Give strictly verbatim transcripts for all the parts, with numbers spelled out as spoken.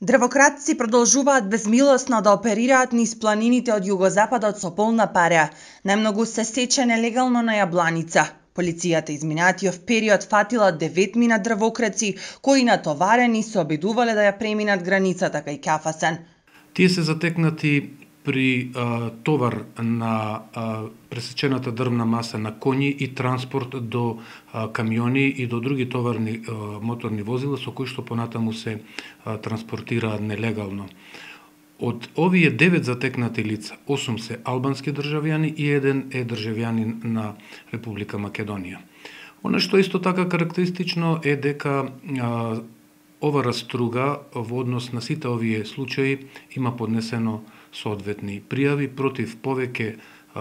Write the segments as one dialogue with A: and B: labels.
A: Дрвократци продолжуваат безмилосно да оперираат низ планините од југозападот со полна пара. Најмногу се сече нелегално на Јабланица. Полицијата изминатиот период фатила деветмина дрвокраци кои натоварени се обидувале да ја преминат границата кај Кафасен.
B: Тие се затекнати при а, товар на а, пресечената дрвна маса на коњи и транспорт до а, камиони и до други товарни а, моторни возила со кои што понатаму се а, транспортираат нелегално. Од овие девет затекнати лица, осум се албански државјани и еден е државјанин на Република Македонија. Она што исто така карактеристично е дека а, ова раструга во однос на сите овие случаи има поднесено соодветни пријави против повеќе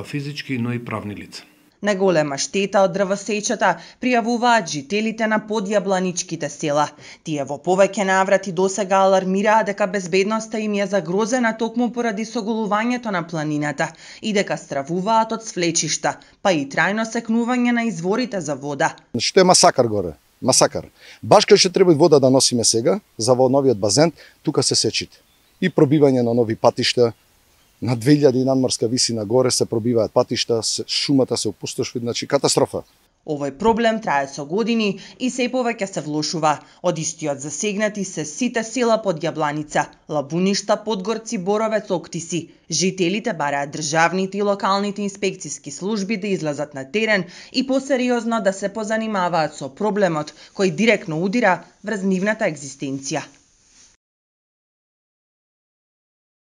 B: физички, но и правни лица.
A: Најголема штета од дрвосечата пријавуваат жителите на подјабланичките села. Тие во повеќе наврати досега алармираат дека безбедноста им е загрозена токму поради соголувањето на планината и дека стравуваат од свлечишта, па и трајно секнување на изворите за вода.
C: Што е масакар горе? Масакар. Баш кај што треба вода да носиме сега, за во новиот базен, тука се сечите. И пробивање на нови патишта, на две илјади надморска висина горе се пробиваат патишта, шумата се опустошува, значи катастрофа.
A: Овој проблем трае со години и се повеќе се влошува. Од истиот засегнати се сите села под Јабланица, Лабуништа, Подгорци, Боровец, Октиси. Жителите бараат државните и локалните инспекциски служби да излезат на терен и посериозно да се позанимаваат со проблемот кој директно удира врз нивната екзистенција.